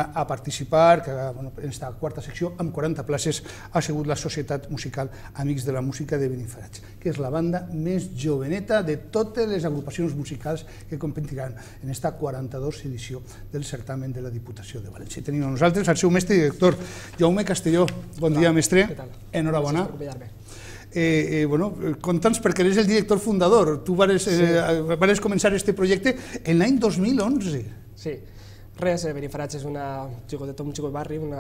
banda a participar, que en aquesta quarta secció, amb 40 places, ha sigut la Societat Musical Amics de la Música de Benifairats, que és la banda més joveneta de totes les agrupacions musicals que competiran en aquesta 42 edició del certamen de la Diputació de València. Tenim a nosaltres el seu mestre i director, Jaume Castelló. Bon dia, mestre. Enhorabona. Gràcies per convidar-me. Conta'ns, perquè eres el director fundador. Tu vas començar aquest projecte en l'any 2011. Sí, res, Benifairats és un xicot barri, un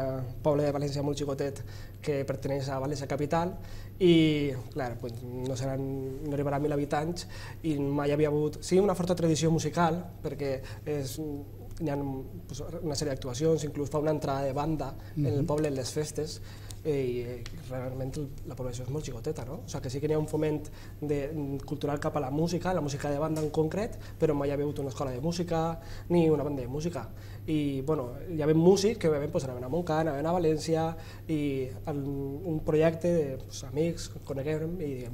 poble de València molt xicotet que perteneix a València Capital i, clar, no arribarà a 1.000 habitants i mai havia hagut, sí, una forta tradició musical perquè hi ha una sèrie d'actuacions, inclús fa una entrada de banda en el poble en les festes i realment la població és molt xicoteta, no? O sigui que sí que hi ha un foment cultural cap a la música de banda en concret, però mai hi ha hagut una escola de música ni una banda de música. I hi havia músics que anaven a Montcà, anaven a València i un projecte d'amics, coneguem i diguem,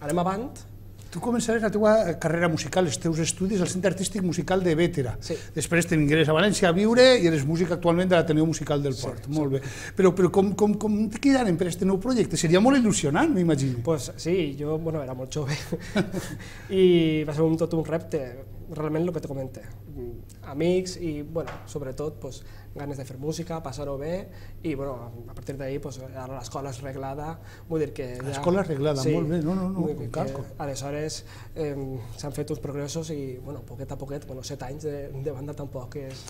anem avant. Tu començaràs la teva carrera musical, els teus estudis al Centre Artístic Musical de Bétera. Després te vingueres a València a viure i eres músic actualment de l'Ateneu Musical del Port. Molt bé. Però com te quedarem per aquest nou projecte? Seria molt il·lusionant, m'imagino. Doncs sí, jo era molt jove i va ser tot un repte, realment el que te comente. Amics i, sobretot, ganes de fer música, passar-ho bé i, a partir d'ahir, ara l'escola és reglada, vull dir que... L'escola és reglada, molt bé, no, calco. Aleshores s'han fet uns progressos i, poquet a poquet, 7 anys de banda tampoc és...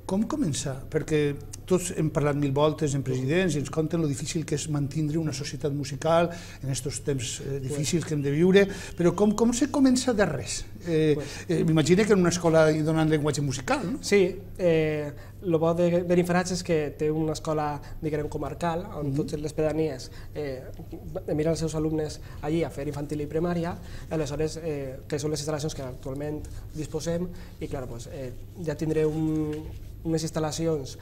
Com començar? Perquè tots hem parlat 1000 voltes en presidents i ens conten lo difícil que és mantindre una societat musical en aquests temps difícils que hem de viure, però com se comença de res? M'imagino que en una escola hi donen llenguatge musical, no? Sí, el bo de Benifairats és que té una escola, diguem, comarcal, on totes les pedanies miren els seus alumnes allí a fer infantil i primària, aleshores, que són les instal·lacions que actualment disposem, i clar, ja tindré unes instal·lacions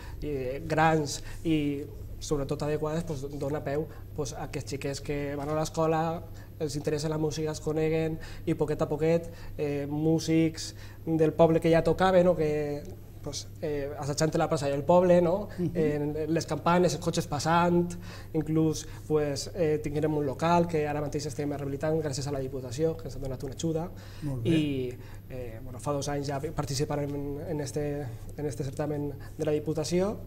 grans i sobretot adequades, dona peu a aquests xiquets que van a l'escola, els interessa la música, es coneguen i poquet a poquet músics del poble que ja tocaven o que assajant a la plaça del poble, les campanes, els cotxes passant, inclús tinguérem un local que ara mateix estem rehabilitant gràcies a la Diputació, que ens ha donat una ajuda, i fa 2 anys ja participarem en este certamen de la Diputació.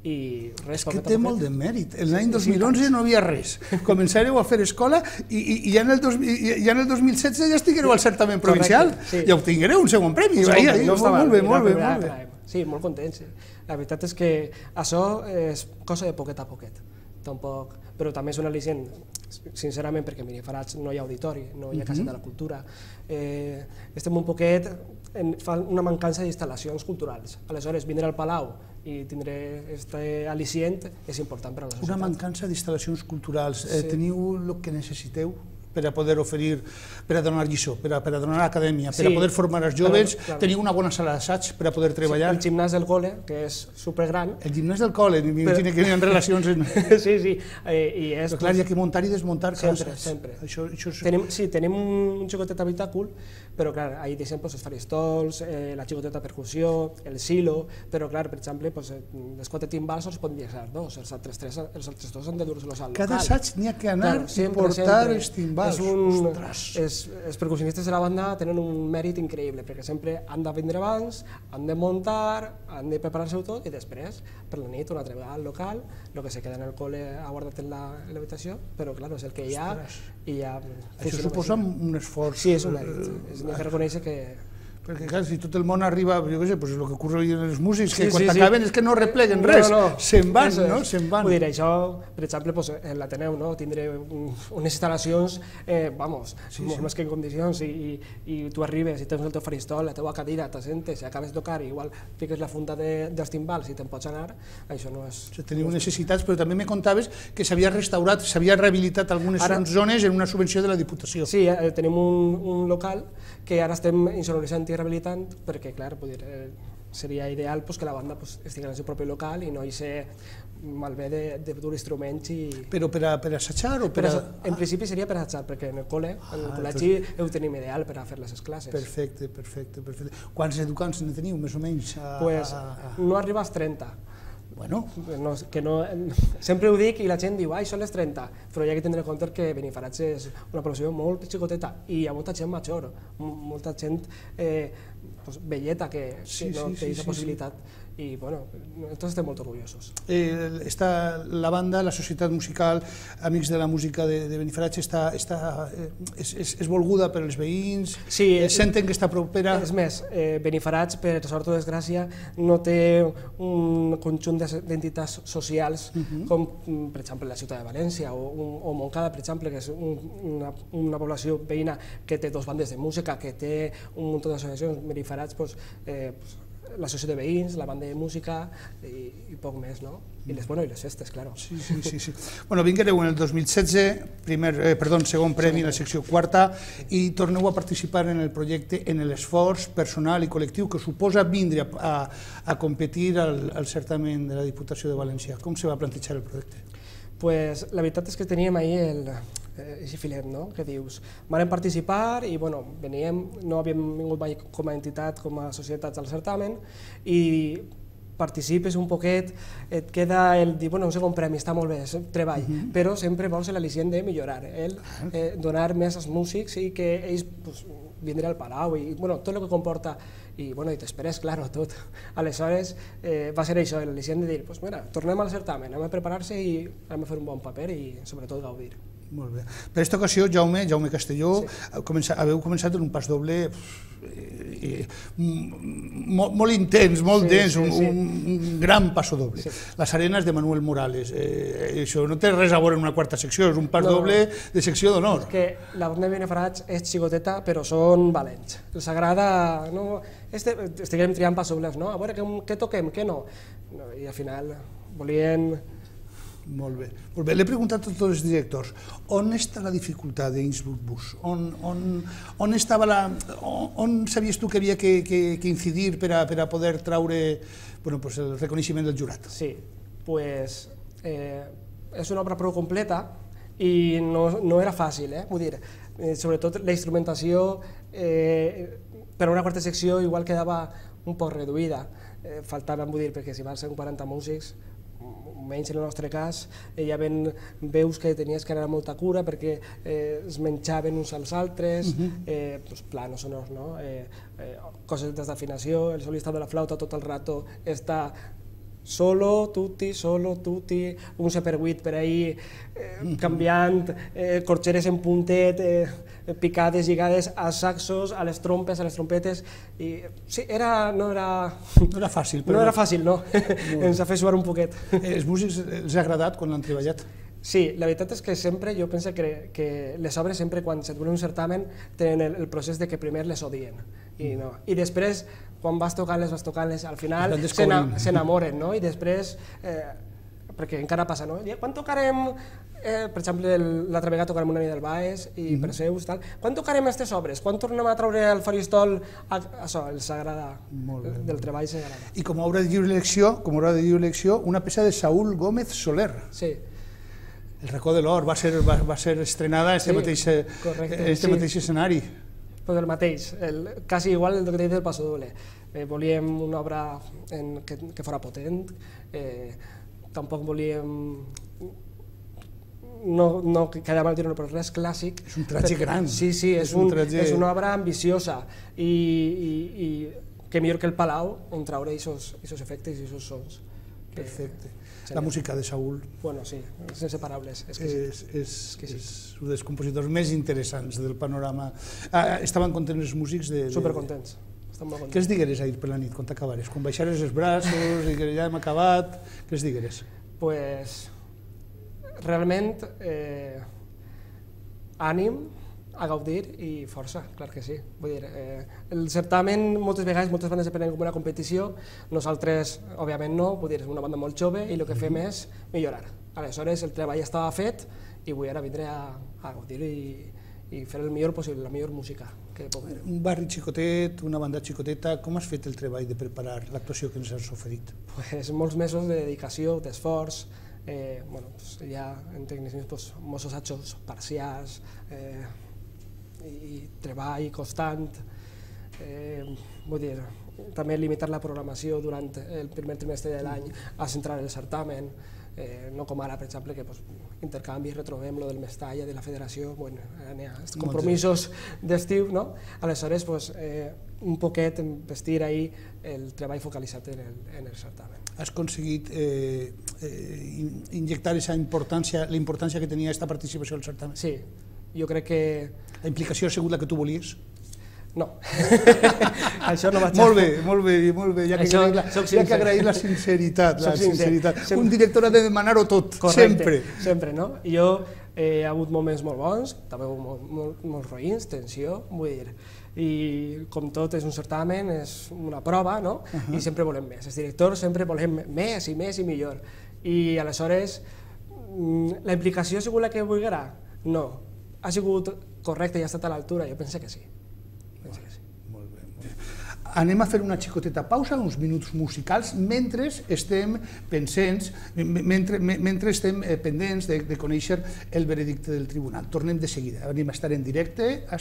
És que té molt de mèrit. L'any 2011 no hi havia res. Començareu a fer escola i ja en el 2016 ja estiguereu al certamen provincial i obtinguereu un segon premi. Molt bé. Sí, molt contents. La veritat és que això és cosa de poquet a poquet. Però també és un al·licient, sincerament, perquè a Benifairats no hi ha auditori, no hi ha Casa de la Cultura. Estem un poquet, fa una mancança d'instal·lacions culturals. Aleshores, vindre al Palau i tindré aquest al·licient és important per a la societat. Una mancança d'instal·lacions culturals. Teniu el que necessiteu per a poder oferir, per a donar lliçó, per a donar acadèmia, per a poder formar els joves? Teniu una bona sala d'assaig per a poder treballar? El gimnàs del col·le, que és supergran. El gimnàs del col·le, m'imagino que hi ha relacions... Sí. Però clar, hi ha que muntar i desmuntar cases. Sempre. Sí, tenim un xicotet habitàcul, però clar, ahí deixem els faristols, la xicoteta percussió, el silo, però clar, per exemple, les 4 timbals els poden deixar 2, els altres 2 han de dur-los al local. Cada assaig n'hi ha que anar i portar els timbals. Els percussionistes de la banda tenen un mèrit increïble, perquè sempre han de vindre abans, han de muntar, han de preparar-se-ho tot i després, per la nit, una altra vegada al local, el que se queda en el col·le ha guardat en l'habitació, però clar, és el que hi ha i ja... Això suposa un esforç. Sí, és un mèrit, n'hi ha que reconèixer que... Perquè, clar, si tot el món arriba, jo què sé, el que ocorre amb els músics, que quan acaben és que no repleguen res, se'n van, no? Vull dir, això, per exemple, en l'Ateneu, tindré unes instal·lacions, molt més que en condicions, i tu arribes i tens el teu faristol, la teva cadira, t'assentes, i acabes de tocar, i igual fiques la funda dels timbals i te'n pots anar, això no és... Teniu necessitats, però també me contaves que s'havia restaurat, s'havia rehabilitat algunes zones en una subvenció de la Diputació. Sí, tenim un local que ara estem insonoritzant i rehabilitant, perquè, clar, seria ideal que la banda estigui en el seu propi local i no hi ser malbé de dur instruments i... Però per assajar o per... En principi seria per assajar, perquè en el col·legi ho tenim ideal per a fer les classes. Perfecte. Quants educants ne teniu, més o menys? No arriba als 30. Bueno. Sempre ho dic i la gent diu, són les 30, però hi ha que tindre en compte que Benifairats és una població molt xicoteta i hi ha molta gent major, molta gent velleta que no té aquesta possibilitat. I, bueno, nosaltres estem molt orgullosos. La banda, la societat musical, Amics de la Música de Benifairats, és volguda per als veïns? Senten que està propera? És més, Benifairats, per sort o desgràcia, no té un conjunt d'entitats socials com, per exemple, la ciutat de València o Montcada, per exemple, que és una població veïna que té dues bandes de música, que té un munt d'associacions. Benifairats, l'associació de veïns, la banda de música i poc més, no? I les festes, clar. Sí. Bueno, vinguereu en el 2016, segon premi en la secció quarta i torneu a participar en el projecte en l'esforç personal i col·lectiu que suposa vindre a competir al certamen de la Diputació de València. Com se va plantejar el projecte? La veritat és que teníem ahir aquest filet, que dius, vam participar i veníem, no havíem vingut mai com a entitat, com a societats al certamen i participes un poquet, et queda el dir, un segon premi, està molt bé, és treball, però sempre vols l'al·licient de millorar, donar més als músics i que ells vindre al Palau i tot el que comporta i t'esperes, clar, tot. Aleshores va ser això, l'al·licient de dir, tornem al certamen, anem a preparar-se i anem a fer un bon paper i sobretot gaudir. Molt bé. Per aquesta ocasió, Jaume Castelló, haveu començat en un pas doble molt intens, molt dens, un gran passo doble. Les arenes de Manuel Morales. Això no té res a veure amb una quarta secció, és un pas doble de secció d'honor. És que la banda de Benifairats és xicoteta, però són valents. Els agrada... Estiguem triant passos dobles, no? A veure, què toquem, què no? I al final volien... Molt bé. L'he preguntat a tots els directors, on està la dificultat d'Innsbruck Bus? On sabies tu que havia que incidir per a poder traure el reconeixement del jurat? Sí, és una obra prou completa i no era fàcil, vull dir, sobretot la instrumentació per a una quarta secció igual quedava un poc reduïda, faltaven, vull dir, perquè si van ser 40 músics, menys en el nostre cas, hi havia veus que tenies que anar amb molta cura perquè es menjaven uns als altres, planos sonors, coses d'afinació, el solista de la flauta tot el rato està solo, tutti, un per 8 per ahí, canviant, corxeres en puntet, picades, lligades als saxos, a les trompes, a les trompetes, i sí, no era fàcil, no, ens ha fet suar un poquet. Els músics els ha agradat quan l'han treballat? Sí, la veritat és que sempre, jo penso que les obres sempre quan se duen un certamen tenen el procés de que primer les odien i després quan vas tocant-les, al final s'enamoren, i després, perquè encara passa, quan tocarem, per exemple, l'altra vegada tocarem una nit del Baes i Perseus, quan tocarem aquestes obres, quan tornem a treure al faristol, això, els agrada, del treball s'agrada. I com a obra de lliure elecció, una peça de Saúl Gómez Soler. Sí. El racó de l'or va ser estrenada en aquest mateix escenari. El mateix, quasi igual el que t'he dit del passo doble. Volíem una obra que fos potent, tampoc volíem, no quedava mal dir-ho, però res clàssic. És un tràgic gran. Sí, és una obra ambiciosa i que millor que el Palau on traure aquests efectes i aquests sons. Perfecte. La música de Saúl. Bueno, sí, és inseparables. És un dels compositors més interessants del panorama. Estaven contents els músics? Supercontents. Què els digueres ahir per la nit, quan t'acabares? Quan baixares els braços i que ja hem acabat, què els digueres? Pues, realment, ànim, a gaudir i força, clar que sí. Vull dir, el certamen moltes vegades, moltes bandes se prenen com una competició, nosaltres, òbviament no, vull dir, és una banda molt jove i el que fem és millorar. Aleshores, el treball estava fet i vull ara vindre a gaudir i fer el millor possible, la millor música. que puc dir. Un barri xicotet, una banda xicoteta, com has fet el treball de preparar l'actuació que ens has oferit? Pues molts mesos de dedicació, d'esforç, hi ha en tecnicismes molts assajos parcials i treball constant, vull dir, també limitar la programació durant el primer trimestre de l'any a centrar el certamen, no com ara, per exemple, que intercanvis, retrobem lo del Mestalla, de la federació, n'hi ha compromisos d'estiu, no? Aleshores, un poquet vestir ahí el treball focalitzat en el certamen. Has aconseguit injectar la importància que tenia aquesta participació al certamen? Sí, jo crec que... La implicació ha sigut la que tu volies? No, això no vaig a... Molt bé, ja que agrair la sinceritat. Un director ha de demanar-ho tot, sempre. Sempre, no? Jo he hagut moments molt bons, també molts roïns, tensió, vull dir, i com tot és un certamen, és una prova, no? I sempre volem més. Els directors sempre volem més i més i millor. I aleshores, la implicació ha sigut la que volguera? No. Ha sigut correcte i ha estat a l'altura? Jo penso que sí. Molt bé. Anem a fer una xicoteta pausa, uns minuts musicals, mentre estem pendents de conèixer el veredicte del tribunal. Tornem de seguida, anem a estar en directe, a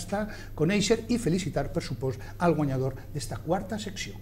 conèixer i felicitar, per supost, al guanyador d'esta quarta secció.